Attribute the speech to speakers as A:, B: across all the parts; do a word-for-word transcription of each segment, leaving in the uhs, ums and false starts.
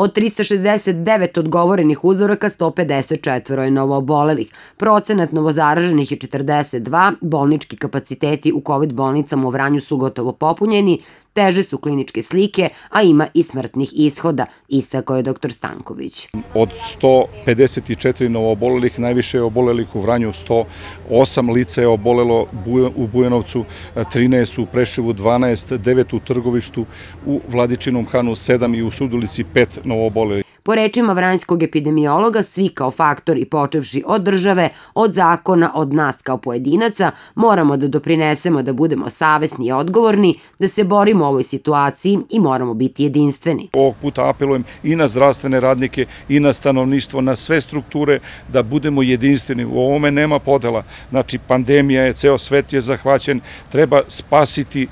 A: Od trista šezdeset devet odgovorenih uzoraka, sto pedeset četiri je novoobolelih. Procenat novozaraženih je četrdeset dva, bolnički kapaciteti u kovid bolnicama u Vranju su gotovo popunjeni, teže su kliničke slike, a ima i smrtnih ishoda, istakao je doktor Stanković.
B: Od sto pedeset četiri novoobolelih, najviše je obolelih u Vranju, sto osam lica je obolelo u Bujanovcu, trinaest u Preševu, dvanaest, devet u Trgovištu, u Vladičinom Hanu sedam i u Surdulici pet novoobolelih.
A: Po rečima vranjskog epidemiologa, svi kao faktori, počevši od države, od zakona, od nas kao pojedinaca, moramo da doprinesemo da budemo savesni i odgovorni, da se borimo u ovoj situaciji i moramo biti jedinstveni.
B: Ovog puta apelujem i na zdravstvene radnike i na stanovništvo, na sve strukture, da budemo jedinstveni. U ovome nema podela. Znači, pandemija je, ceo svet je zahvaćen, treba spasiti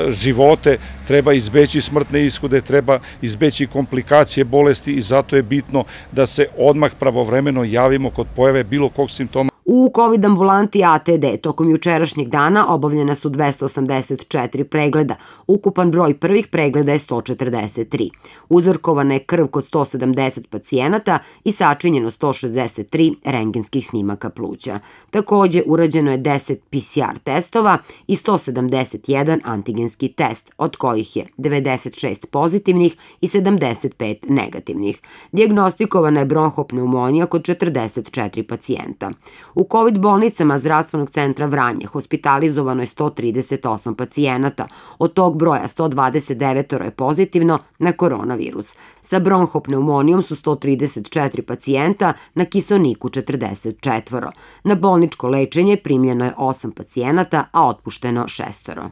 B: živote, treba izbeći smrtne ishode, treba izbeći komplikacije bolesti i zato je bitno da se odmah pravovremeno javimo kod pojave bilo kog simptoma.
A: U kovid ambulanti A T D tokom jučerašnjeg dana obavljena su dvesta osamdeset četiri pregleda. Ukupan broj prvih pregleda je sto četrdeset tri. Uzorkovana je krv kod sto sedamdeset pacijenata i sačinjeno sto šezdeset tri rentgenskih snimaka pluća. Takođe, urađeno je deset P C R testova i sto sedamdeset jedan antigenski test, od kojih je devedeset šest pozitivnih i sedamdeset pet negativnih. Dijagnostikovana je bronhopneumonija kod četrdeset četiri pacijenta. U kovid bolnicama Zdravstvenog centra Vranje hospitalizovano je sto trideset osam pacijenata, od tog broja sto dvadeset devet je pozitivno na koronavirus. Sa bronhopneumonijom su sto trideset četiri pacijenta, na kiseoniku četrdeset četiri. Na bolničko lečenje primljeno je osam pacijenata, a otpušteno šestoro.